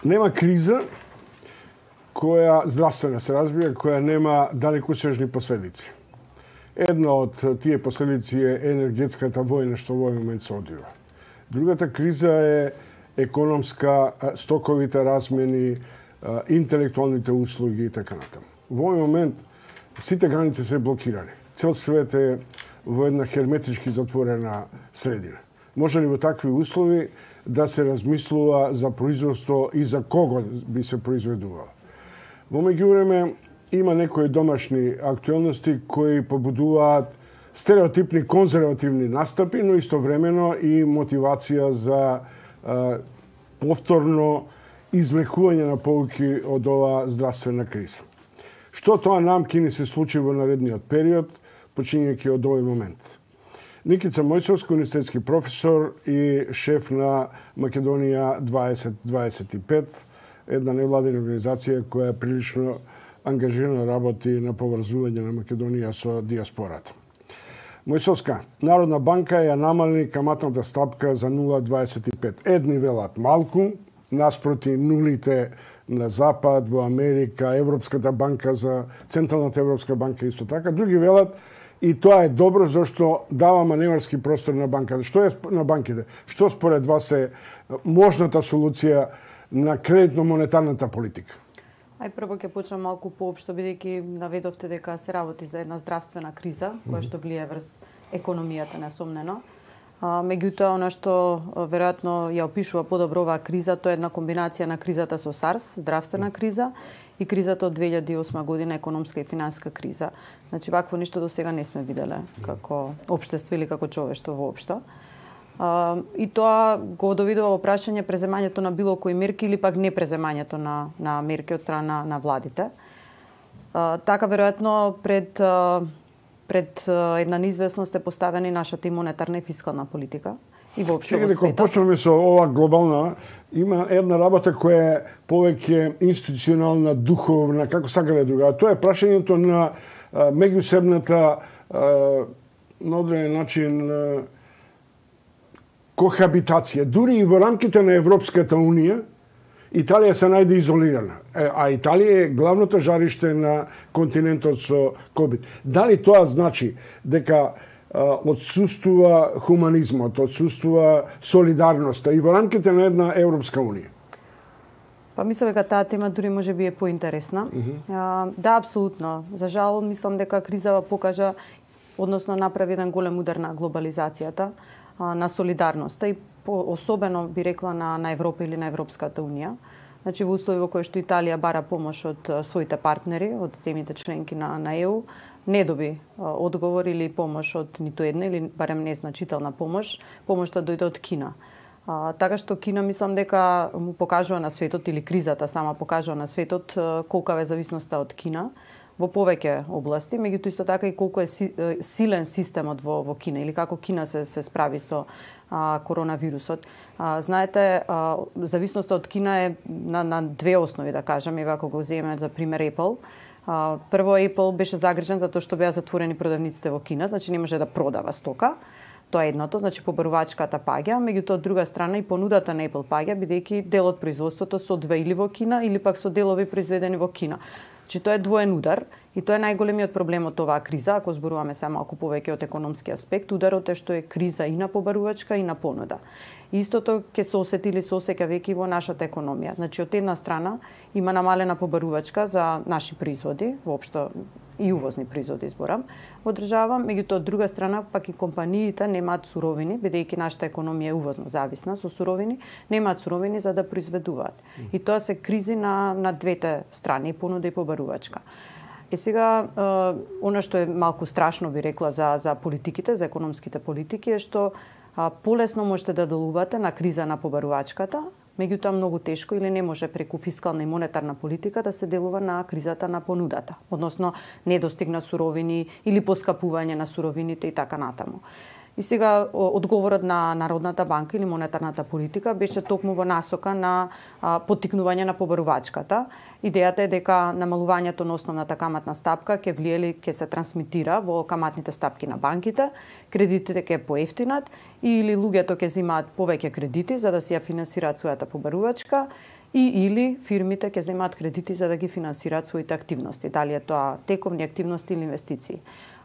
Нема криза која здравствена се разбира, која нема далекосежни последици. Една од тие последици е енергетската војна што во овој момент се одвива. Другата криза е економска, стоковите размени, интелектуалните услуги и така натаму. Во овој момент сите граници се блокирани. Цел свет е во една херметички затворена средина. Може ли во такви услови да се размислува за производство и за кого би се произведувало? Во меѓувреме има некои домашни актуелности кои побудуваат стереотипни конзервативни настапи, но истовремено и мотивација за повторно извлекување на поуки од ова здравствена криза. Што тоа нам ќе ни се случи во наредниот период, почињајќи од овој момент? Никица Мојсовски, универзитетски професор и шеф на Македонија 2025, една невладина организација која прилично ангажирано работи на поврзување на Македонија со диаспората. Мојсовска, Народна банка ја намали каматната стапка за 0,25. Едни велат малку, наспроти нулите на Запад, во Америка, Европската банка за Централната Европска банка исто така. Други велат и тоа е добро зашто дава маневарски простор на банката. Што е на банките? Што според вас е можната солуција на кредитно-монетарната политика? Прво ќе почнам малку поопшто, бидејќи наведовте дека се работи за една здравствена криза, која што влие врз економијата несомнено. Меѓутоа, она што веројатно ја опишува подобро оваа криза, тоа е една комбинација на кризата со SARS, здравствена криза, и кризата од 2008 година, економска и финанска криза. Значи, вакво ништо до сега не сме виделе како општество или како човештво воопшто. И тоа го доведува во прашање преземањето на било кои мерки или пак не преземањето на мерки од страна на владите. Така, веројатно, пред една неизвестност е поставена и нашата и монетарна и фискална политика и воопшто во светот. Почнеме со ова глобална, има една работа која е повеќе институционална, духовна, како сака да е друга. Тоа е прашањето на меѓусебната на одреден начин кохабитација. Дури и во рамките на Европската Унија, Италија се најде изолирана, а Италија е главното жариште на континентот со COVID. Дали тоа значи дека отсуствува хуманизмот, отсуствува солидарноста и во рамките на една Европска Унија? Мислам дека таа тема дури може би е поинтересна. Да, апсолутно. За жал, мислам дека кризава покажа, односно направи еден голем удар на глобализацијата, на солидарноста и особено би рекла на Европа или на Европската Унија. Значи во услови во кои што Италија бара помош од своите партнери, од земјите членки на ЕУ, не доби одговор или помош од ниту една или барем незначителна помош. Помошта дојде од Кина. Така што Кина мислам дека му покажува на светот или кризата сама покажува на светот колка е зависноста од Кина во повеќе области, меѓутоа исто така и колку е силен системот во Кина или како Кина се справи со коронавирусот. Знаете, зависноста од Кина е на две основи, да кажам, и ако го земеме за пример Apple. Прво, Apple беше загрижен затоа што беа затворени продавниците во Кина, значи не може да продава стока. Тоа е едното, значи побарувачката паѓа, меѓутоа од друга страна и понудата на Apple паѓа, бидејќи дел од производството се одвива или во Кина или пак со делови произведени во Кина. Значи тоа е двоен удар и тоа е најголемиот проблем од оваа криза, ако зборуваме сега малку повеќе од економски аспект. Ударот е што е криза и на побарувачка и на понуда. Истото ќе се осети или се осеќа веќе во нашата економија. Значи од една страна има намалена побарувачка за наши производи, воопшто и увозни производи зборам, во држава, меѓутоа од друга страна пак и компаниите немаат суровини, бидејќи нашата економија е увозно зависна со суровини, немаат суровини за да произведуваат. И тоа се кризи на двете страни, понуда и побарувачка. Сега, она што е малку страшно би рекла за политиките, за економските политики е што полесно можете да делувате на криза на побарувачката, меѓутоа многу тешко или не може преку фискална и монетарна политика да се делува на кризата на понудата, односно недостиг на суровини или поскапување на суровините и така натаму. И сега одговорот на Народната банка или монетарната политика беше токму во насока на поттикнување на побарувачката. Идејата е дека намалувањето на основната каматна стапка ќе влие или ќе се трансмитира во каматните стапки на банките, кредитите ќе поевтинат или луѓето ќе земаат повеќе кредити за да си ја финансираат својата побарувачка и или фирмите ќе земаат кредити за да ги финансираат своите активности, дали е тоа тековни активности или инвестиции.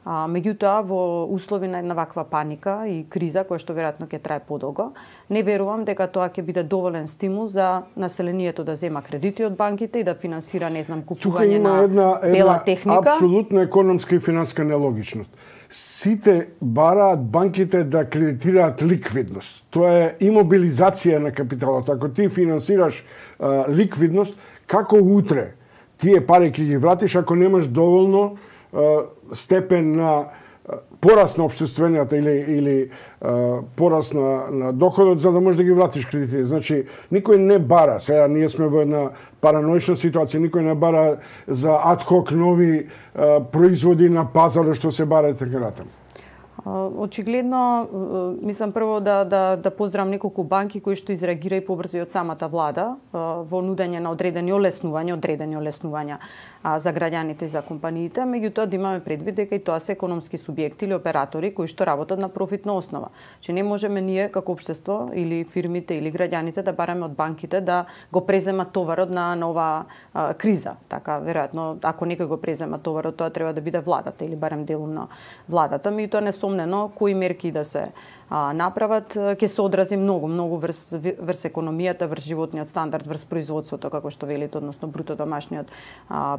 Меѓутоа, во услови на една ваква паника и криза, која што веројатно ќе трае подолго, не верувам дека тоа ќе биде доволен стимул за населението да зема кредити од банките и да финансира, не знам, купување на бела техника. Апсолутно економска и финанска нелогичност. Сите бараат банките да кредитираат ликвидност. Тоа е имобилизација на капиталот. Ако ти финансираш ликвидност, како утре тие пари ќе ги вратиш ако немаш доволно степен на пораст на општествената или пораст на доходот за да можеш да ги вратиш кредитите. Значи, никој не бара, сега ние сме во една параноична ситуација, никој не бара за адхок нови производи на пазарот што се бара така натаму. Очигледно, мислам прво да поздравам неколку банки кои што изреагира и побрзо и од самата влада во нудење на одредени олеснувања за граѓаните и за компаниите, меѓутоа да имаме предвид дека и тоа се економски субјекти или оператори кои што работат на профитна основа. Че не можеме ние како општество или фирмите или граѓаните да бараме од банките да го преземат товарот на оваа криза. Така, веројатно, ако некој го презема товарот, тоа треба да биде владата или барем делумно владата, меѓутоа несомнено кои мерки да се направат ќе се одрази многу врз економијата, врз животниот стандард, врз производството, како што велите, односно бруто домашниот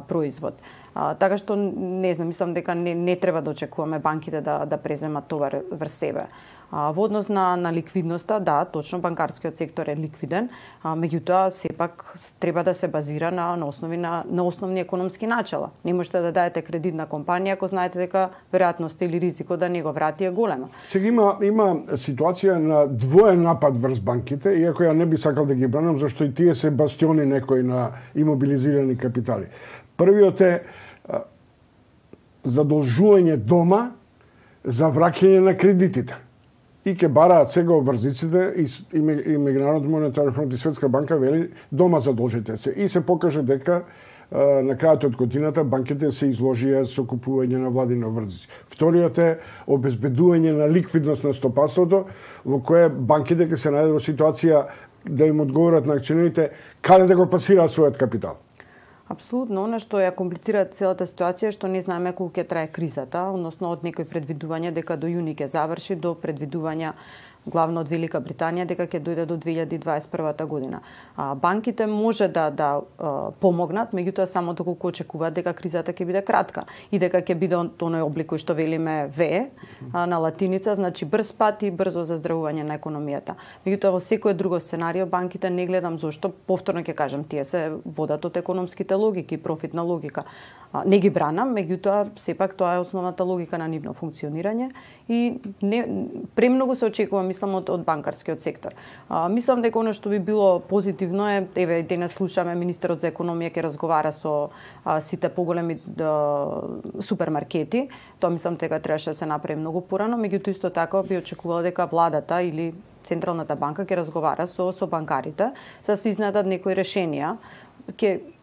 производ. Така што не знам, мислам дека не треба да очекуваме банките да преземат товар врз себе. Во однос на ликвидноста, да, точно банкарскиот сектор е ликвиден, меѓутоа сепак треба да се базира на основни економски начала. Не можете да дадете кредит на компанија ако знаете дека веројатноста или ризикот да не го врати е голема. Сега има ситуација на двоен напад врз банките, иако ја не би сакал да ги бранам, зашто и тие се бастиони некои на имобилизирани капитали. Првиот е задолжување дома за враќање на кредитите. И ќе бараат сега обврзиците и Меѓународниот монетарен фонд и Светска банка вели дома задолжите се. И се покаже дека на крајот од годината банките се изложија со купување на владини обврзици. Вториот е обезбедување на ликвидност на стопанството, во кое банките ќе се најдат во ситуација да им одговорат на акционерите каде да го пласираат својот капитал. Апсолутно, она што ја комплицира целата ситуација е што не знаеме колку ќе трае кризата, односно од некои предвидувања дека до јуни ќе заврши, до предвидувања главно од Велика Британија дека ќе дојде до 2021 година. Банките може да помогнат, меѓутоа само доколку очекуваат дека кризата ќе биде кратка и дека ќе биде оној облик кој што велиме V на латиница, значи брз пат и брзо заздравување на економијата. Меѓутоа во секое друго сценарио банките не гледам зошто, повторно ќе кажам, тие се водат од економските логики, профитна логика. Не ги бранам, меѓутоа сепак тоа е основната логика на нивно функционирање и премногу се очекува, мислам, од банкарскиот сектор. Мислам дека оно што би било позитивно е, еве денес слушаме министерот за економија ќе разговара со сите поголеми супермаркети. Тоа мислам дека требаше да се направи многу порано, меѓутоа исто така би очекувала дека владата или Централната банка ќе разговара со банкарите за да се изнедат некои решенија.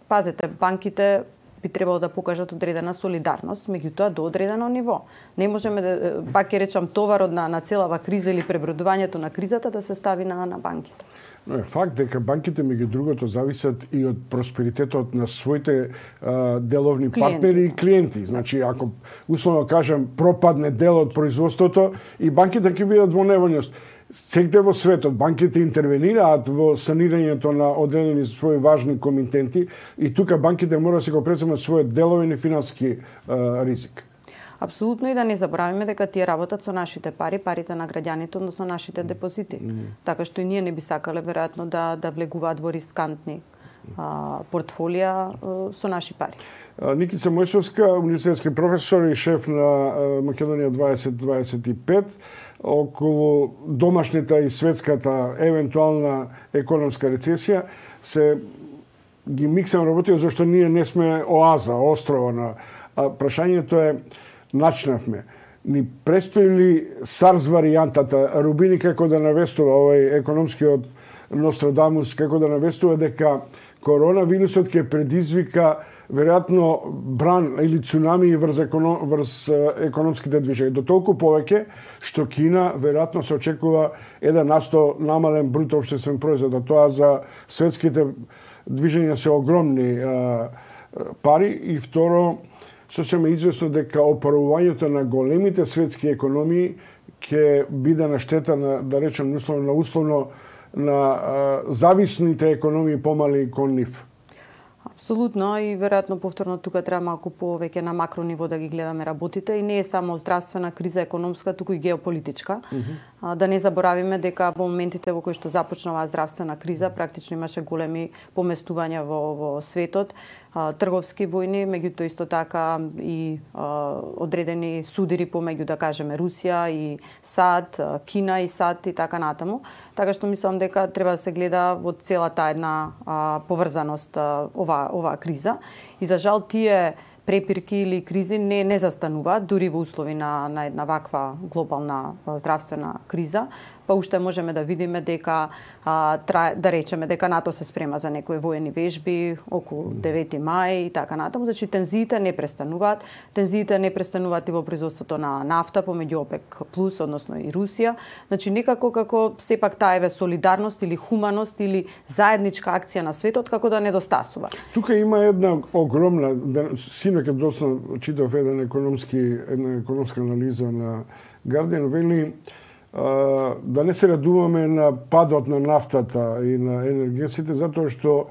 Пазете, банките би требало да покажат одредена солидарност, меѓутоа до одредено ниво. Не можеме да, пак ќе речам, товарот на целава криза или пребродувањето на кризата да се стави на банките. Но е факт дека банките меѓу другото зависат и од просперитетот на своите деловни партнери и клиенти. Значи, ако условно кажам пропадне дел од производството и банките ќе бидат во неволност. Сегде во светот банките интервенираат во санирањето на одредени своји важни комитенти и тука банките мора да се го преземат својот деловен и финански ризик. Апсолутно, и да не забравиме дека тие работат со нашите пари, парите на граѓаните, односно нашите депозити. Така што и ние не би сакале веројатно да влегуваат во рискантни портфолија со наши пари. Никица Мојсовска, универзитетски професор и шеф на Македонија 2025, околу домашната и светската евентуална економска рецесија, се ги миксам работија зашто ние не сме оаза, острова на прашањето е начнавме. Ни престои ли SARS варијантата Рубини како да навестува овој економскиот Нострадамус, како да навестува дека коронавирусот ќе предизвика веројатно бран или цунами врз економските движења. До толку повеќе што Кина веројатно се очекува 1% намален бруто општествен производ, а тоа за светските движења се огромни пари. И второ, сосема известно дека опарувањето на големите светски економии ќе биде на штета на, да речем, условно на зависните економии помали кон нив. Апсолутно, и веројатно повторно тука треба малку повеќе на макро ниво да ги гледаме работите, и не е само здравствена криза економска, туку и геополитичка. Да не заборавиме дека во моментите во кои што започна оваа здравствена криза, практично имаше големи поместувања во светот, трговски војни, меѓутоа исто така и одредени судири помеѓу, да кажеме, Русија и САД, Кина и САД и така натаму. Така што мислам дека треба да се гледа во целата една поврзаност оваа криза. И за жал тие препирки или кризи не застануваат дури во услови на една ваква глобална здравствена криза. Па уште можеме да видиме дека да речеме дека НАТО се спрема за некои воени вежби околу 9 мај и така натаму. Значи тензиите не престануваат. Тензиите не престануваат и во производството на нафта помеѓу ОПЕК плюс, односно и Русија. Значи некако како сепак таа еве солидарност или хуманост или заедничка акција на светот како да недостасува. Тука има една огромна, синоќ доста читав една економска анализа на Guardian, вели да не се радуваме на падот на нафтата и на енергетиците, затоа што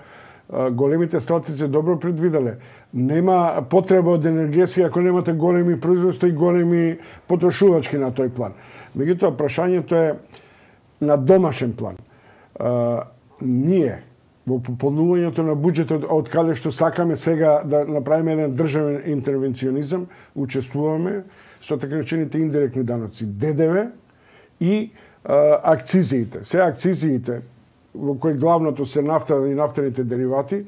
големите стратици добро предвиделе. Нема потреба од енергетика ако немате големи производства и големи потрошувачки на тој план. Меѓутоа, прашањето е на домашен план. Ние во пополнувањето на буџетот, од каде што сакаме сега да направиме еден државен интервенционизам, учествуваме со така речените индиректни даноци, ДДВ и акцизиите. Се акцизиите, во кои главното се нафта и нафтените деривати,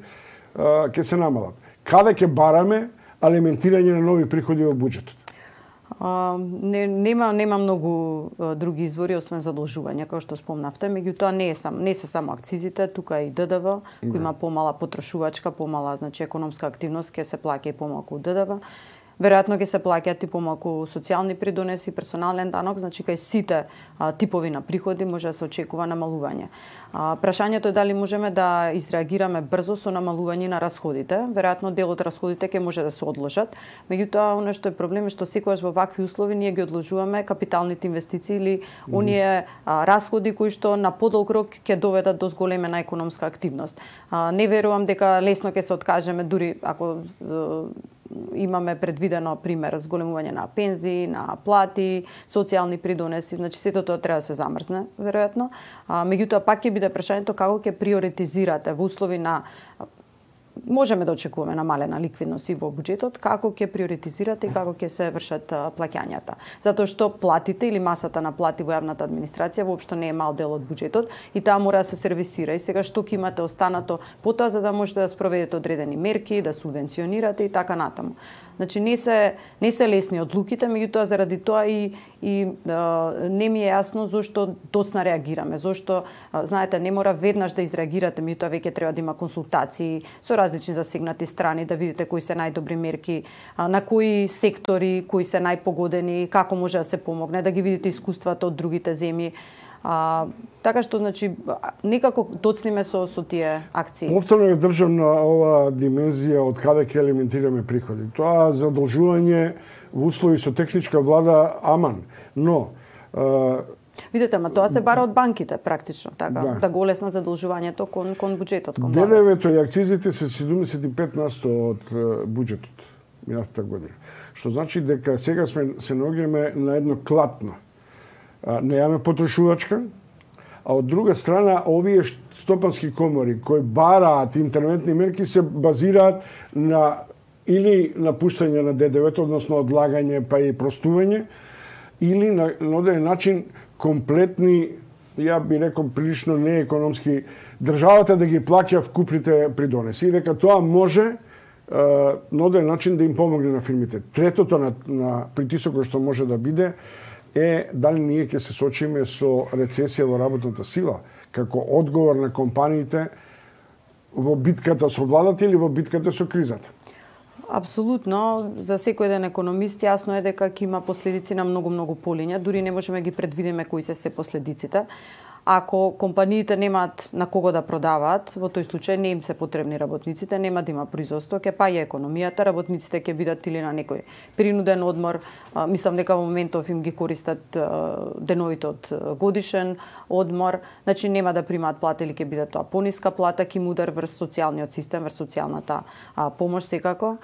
ќе се намалат. Каде ќе бараме алиментирање на нови приходи во буџетот? Нема многу други извори освен задолжување, како што спомнавте, меѓутоа не се само акцизите, тука и ДДВ, кој има помала потрошувачка, помала, значи, економска активност, ќе се плаќа и помалку ДДВ. Веројатно ќе се плаќаат и помалку социјални придонеси, персонален данок, значи кај сите типови на приходи може да се очекува намалување. Прашањето е дали можеме да изреагираме брзо со намалување на расходите. Веројатно дел од расходите ќе може да се одложат, меѓутоа оно што е проблем е што секогаш во вакви услови ние ги одложуваме капиталните инвестиции или оние расходи кои што на подолг рок ќе доведат до зголемена економска активност. Не верувам дека лесно ќе се откажеме, дури ако имаме предвидено, пример, зголемување на пензии, на плати, социјални придонеси, значи сето тоа треба да се замрзне, веројатно. Меѓутоа пак ќе биде прашањето како ќе приоритизирате во услови на можеме да очекуваме намалена ликвидност и во буџетот, како ќе приоритизирате и како ќе се вршат плаќањата. Затоа што платите или масата на плати во јавната администрација воопшто не е мал дел од буџетот и таа мора да се сервисира. И сега што ќе имате останато потоа за да можете да спроведете одредени мерки, да субвенционирате и така натаму. Значи не се лесни одлуките, меѓутоа заради тоа и не ми е јасно зошто доцна реагираме, зошто знаете не мора веднаш да изреагирате, меѓутоа веќе треба да има консултации со различни засегнати страни, да видите кои се најдобри мерки, на кои сектори, кои се најпогодени, како може да се помогне, да ги видите искуствата од другите земји. Така што, значи, некако доцниме со тие акции. Повторно е државна ова димензија од каде ќе елементираме приходи. Тоа задолжување во услови со техничка влада аман, но видите, ама тоа се бара од банките практично, така, да го олеснат задолжувањето кон буџетот, кон владата. ДДВ-то и акцизите се 75% од буџетот минатата година. Што значи дека сега се наоѓаме на едно клатно. Немаме потрошувачка, а од друга страна овие стопански комори кои бараат интервентни мерки се базираат на или напуштање на ДДВ-то, односно одлагање па и простување, или на одреден начин комплетни, ја би рекол прилично неекономски, државата да ги плаќа вкупните придонеси и дека тоа може на одреден начин да им помогне на фирмите. Третото на притисокот што може да биде е дали ние ќе се сочиме со рецесија во работната сила. како одговор на компаниите во битката со владата или во битката со кризата? Апсолутно, за секој еден економист јасно е дека ќе има последици на многу полиња, дури не можеме ги предвидиме кои се последиците. Ако компаниите немаат на кого да продаваат, во тој случај не им се потребни работниците, нема да има производство, ќе паѓа економијата, работниците ќе бидат или на некој принуден одмор, мислам дека во моментов им ги користат деновите од годишен одмор, значи нема да примаат плата или ќе биде тоа пониска плата, ќе им удар врз социјалниот систем, врз социјалната помош секако.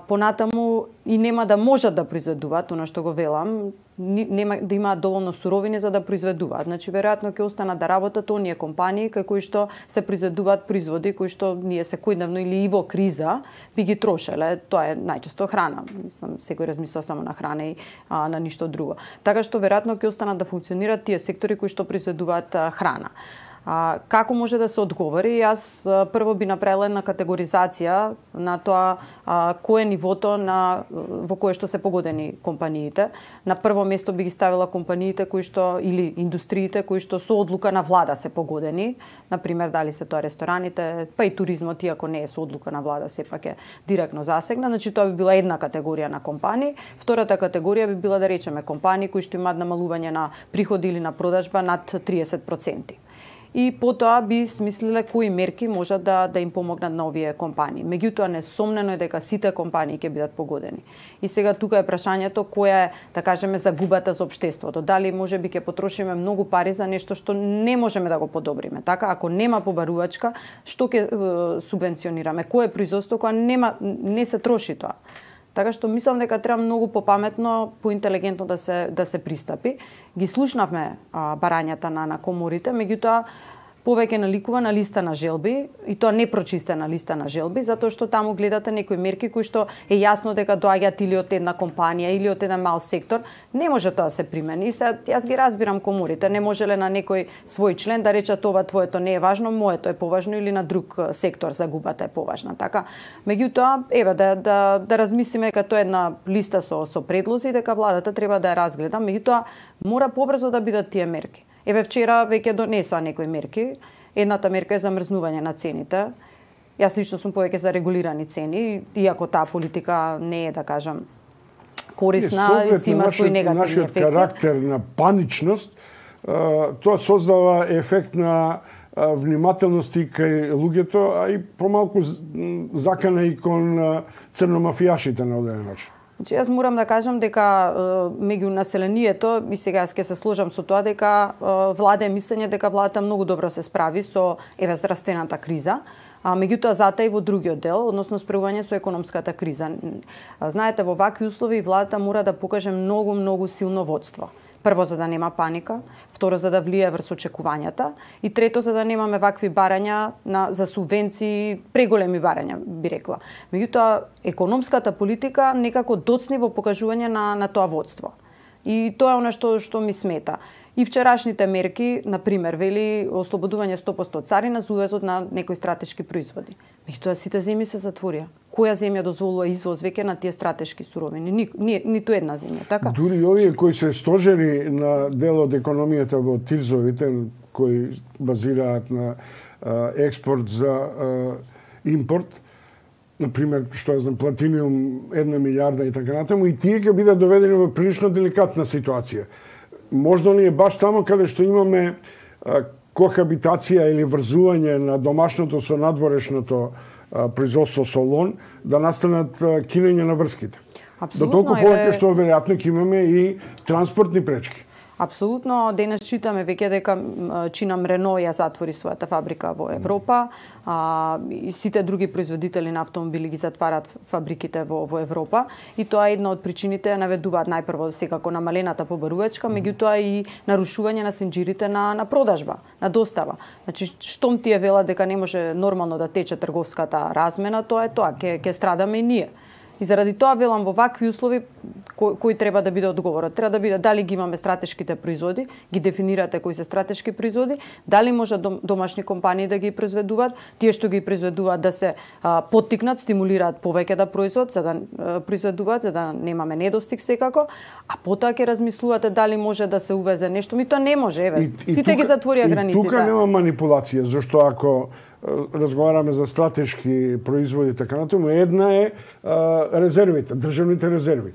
Понатаму и нема да можат да произведуваат, она што го велам, нема да имаат доволно суровини за да произведуваат. Значи, веројатно ќе останат да работат оние компании кај кои што се произведуваат производи кои што ние секојдневно или и во криза би ги трошеле. Тоа е најчесто храна. Мислам, секој размисла само на храна и на ништо друго. Така што веројатно ќе останат да функционираат тие сектори кои што произведуваат храна. Како може да се одговори? Јас прво би направила една категоризација на тоа кој е нивото во кое што се погодени компаниите. На прво место би ги ставила компаниите кои што или индустриите кои што со одлука на влада се погодени, например дали се тоа рестораните, па и туризмот, иако не е со одлука на влада, сепак е директно засегнат. Значи тоа би била една категорија на компании. Втората категорија би била, да речеме, компании кои што имаат намалување на приходи или на продажба над 30%. И потоа би смислиле кои мерки можат да им помогнат на овие компании. Меѓутоа, несомнено е дека сите компании ќе бидат погодени. И сега тука е прашањето која е, да кажеме, загубата за општеството. Дали можеби ќе потрошиме многу пари за нешто што не можеме да го подобриме. Така, ако нема побарувачка, што ќе субвенционираме? Кое е производство кога не се троши тоа? Така што мислам дека треба многу попаметно, поинтелигентно да се пристапи. Ги слушнавме барањата на коморите, меѓутоа повеќе наликува на листа на желби, и тоа не прочистена листа на желби, затоа што таму гледате некои мерки кои што е јасно дека доаѓаат или од една компанија или од еден мал сектор, не може тоа да се примени. И јас ги разбирам коморите, не можеле на некој свој член да речат ова твоето не е важно, моето е поважно, или на друг сектор загубата е поважна. Така, меѓутоа, еве да размислиме дека тоа е една листа со предлози, дека владата треба да ја разгледа, меѓутоа мора побрзо да бидат тие мерки. Еве вчера веќе донесоа некои мерки. Едната мерка е замрзнување на цените. Јас лично сум повеќе за регулирани цени, иако таа политика не е, да кажам, корисна и си има свои негативни ефекти. Нашиот карактер на паничност, тоа создава ефект на внимателност и кај луѓето, а и помалку закана и кон црномафијашите на одреден начин. Значи, јас морам да кажам дека меѓу населението, и сега јас ќе се сложам со тоа, дека влада е мислење дека владата многу добро се справи со здравствената криза, меѓутоа затоа и во другиот дел, односно справување со економската криза. Знаете, во вакви услови владата мора да покаже многу силно водство. Прво, за да нема паника, второ, за да влие врз очекувањата, и трето, за да немаме вакви барања за субвенции, преголеми барања, би рекла. Меѓутоа, економската политика некако доцни во покажување на тоа водство. И тоа е она што ми смета. И вчерашните мерки, например, вели ослободување 100% царина за увезот на некои стратешки производи. Меѓутоа, сите земји се затворија. Која земја дозволува извоз веќе на тие стратешки суровини? Ниту една земја, така? Дури овие кои се стожери на дел од економијата во ТИРЗовите, кои базираат на експорт за импорт, например, што е платиниум 1 милиарда и така натаму, и тие ќе бидат доведени во прилично деликатна ситуација. Можда ли е баш тамо каде што имаме кохабитација или врзување на домашното со надворешното производство со лон, да настанат кинење на врските. До толку повеќе што веројатно ќе имаме и транспортни пречки. Апсолутно, денес читаме веќе дека чинам Рено ја затвори својата фабрика во Европа, и сите други производители на автомобили ги затварат фабриките во Европа, и тоа е една од причините, наведуваат најпрво секако намалената побарувачка, меѓутоа и нарушување на сенџирите на продажба, на достава. Значи, штом тие велат дека не може нормално да тече трговската размена, тоа е тоа, ќе страдаме и ние. И заради тоа велам во вакви услови кој треба да биде одговорот. Треба да биде дали ги имаме стратешките производи, ги дефинирате кои се стратешки производи, дали може домашни компании да ги произведуваат, тие што ги произведуваат да се поттикнат, стимулираат повеќе да произведуваат за да немаме недостиг секако, а потоа ќе размислувате дали може да се увезе нешто. Ми тоа не може, еве. Сите ги затворија границите. Тука нема манипулација, зашто ако разговараме за стратешки производи така натаму, една е резервите, државните резерви.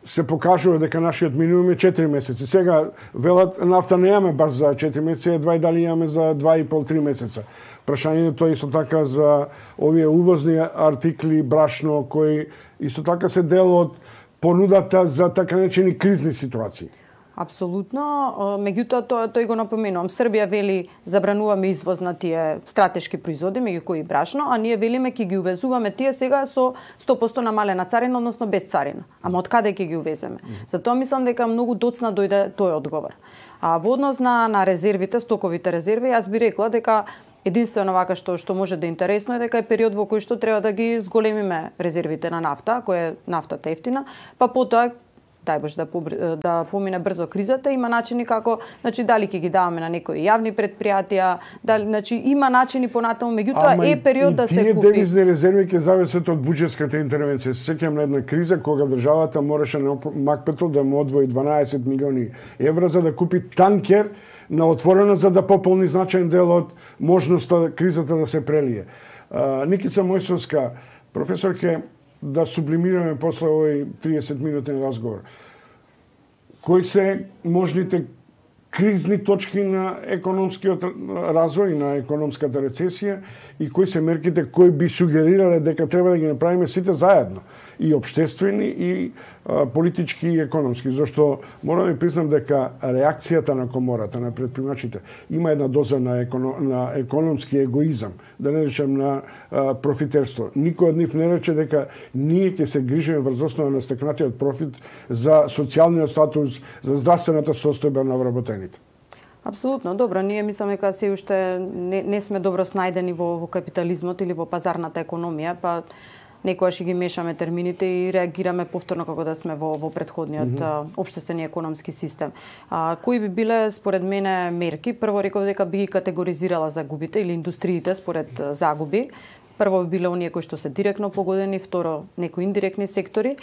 Се покажува дека нашиот минимум е 4 месеци. Сега велат нафта не имаме баш за 4 месеци, едва и дали имаме за 2,5-3 месеца. Прашањето е исто така за овие увозни артикли, брашно, кои исто така се дел од понудата за така наречени кризни ситуации. Апсолутно, меѓутоа тој го напоменувам. Србија вели забрануваме извоз на тие стратешки производи, меѓу кои брашно, а ние велиме ќе ги увезуваме тие сега со 100% намалена царина, односно без царина. Ама од каде ќе ги увеземе? Затоа мислам дека многу доцна дојде тој одговор. А во однос на резервите, стоковите резерви, јас би рекла дека единствено вака што може да е интересно е дека е период во кој што треба да ги зголемиме резервите на нафта, која е нафтата ефтина, па потоа дај Боже да помине брзо кризата, има начини како, значи дали ќе ги даваме на некои јавни предпријатија, дали, значи има начини понатаму, меѓутоа е период да се купи. Тие девизни резерви ќе зависат од буџетската интервенција. Сеќавам на една криза кога државата мораше на Макпетол да му одвои 12 милиони евра за да купи танкер на отворено за да пополни значаен дел од можноста кризата да се прелие. Никица Мојсовска, професорке, да сублимираме после овој 30-минутен разговор. Кои се можните кризни точки на економскиот развој, на економската рецесија и кои се мерките кои би сугерирале дека треба да ги направиме сите заедно, и обществени и политички и економски, зашто морам да признам дека реакцијата на комората, на претпримачите, има една доза на економски егоизам, да не речем на профитерство. Никој од нив не рече дека ние ќе се грижиме врз основа на стекнатиот профит за социјалниот статус, за здравствената состојба на вработените. Апсолутно, добро, ние мислиме дека се уште не сме добро снајдени во капитализмот или во пазарната економија, па некогаш ги мешаме термините и реагираме повторно како да сме во претходниот општествен и економски систем. Кои би биле според мене мерки? Прво реков дека би ги категоризирала загубите или индустриите според загуби. Прво би биле оние кои што се директно погодени, второ некои индиректни сектори.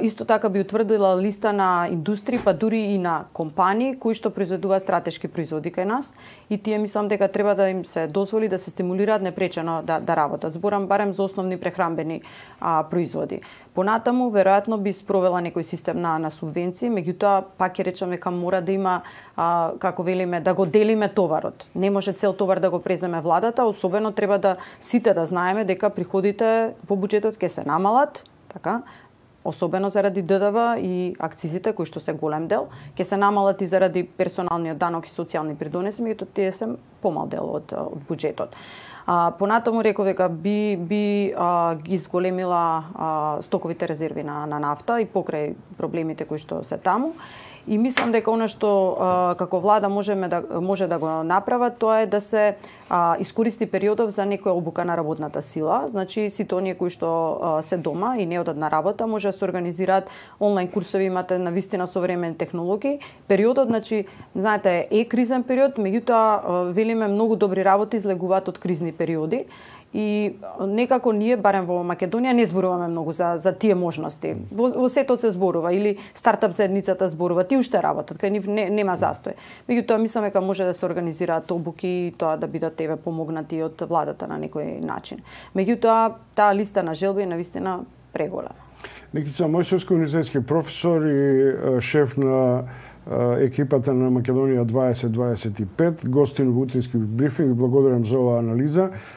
Исто така би утврдила листа на индустрии, па дури и на компании кои што произведуваат стратешки производи кај нас, и тие мислам дека треба да им се дозволи да се стимулираат непречено да работат. Зборам барем за основни прехранбени производи. Понатаму веројатно би спровела некој систем на субвенции, меѓутоа пак ќе речеме дека мора да има како велиме да го делиме товарот. Не може цел товар да го преземе владата, особено треба да сите да знаеме дека приходите во буџетот ќе се намалат, така, особено заради ДДВ и акцизите кои што се голем дел, ќе се намалат и заради персоналниот данок и социјални придонеси, меѓутоа тие се помал дел од буџетот. Понатаму реков дека би ги зголемила стоковите резерви на нафта и покрај проблемите кои што се таму. И мислам дека она што како влада може да го направат, тоа е да се искористи периодов за некоја обука на работната сила. Значи сите оние кои што се дома и не одат на работа може да се организираат онлайн курсови, имате навистина современи технологии. Периодот, значи, знаете, е кризен период, меѓутоа велиме многу добри работи излегуваат од кризни периоди. И некако ние, барем во Македонија, не зборуваме многу за тие можности. Во сето се зборува, или стартап заедницата зборува, тие уште работат, кај нив нема застој. Меѓутоа, мислам дека може да се организираат обуки и тоа да бидат помогнати од владата на некој начин. Меѓутоа, таа листа на желби е навистина преголема. Никица Мојсовска, универзитетски професор и шеф на екипата на Македонија 2025, гостин во утрински брифинг. Благодарам за оваа анализа.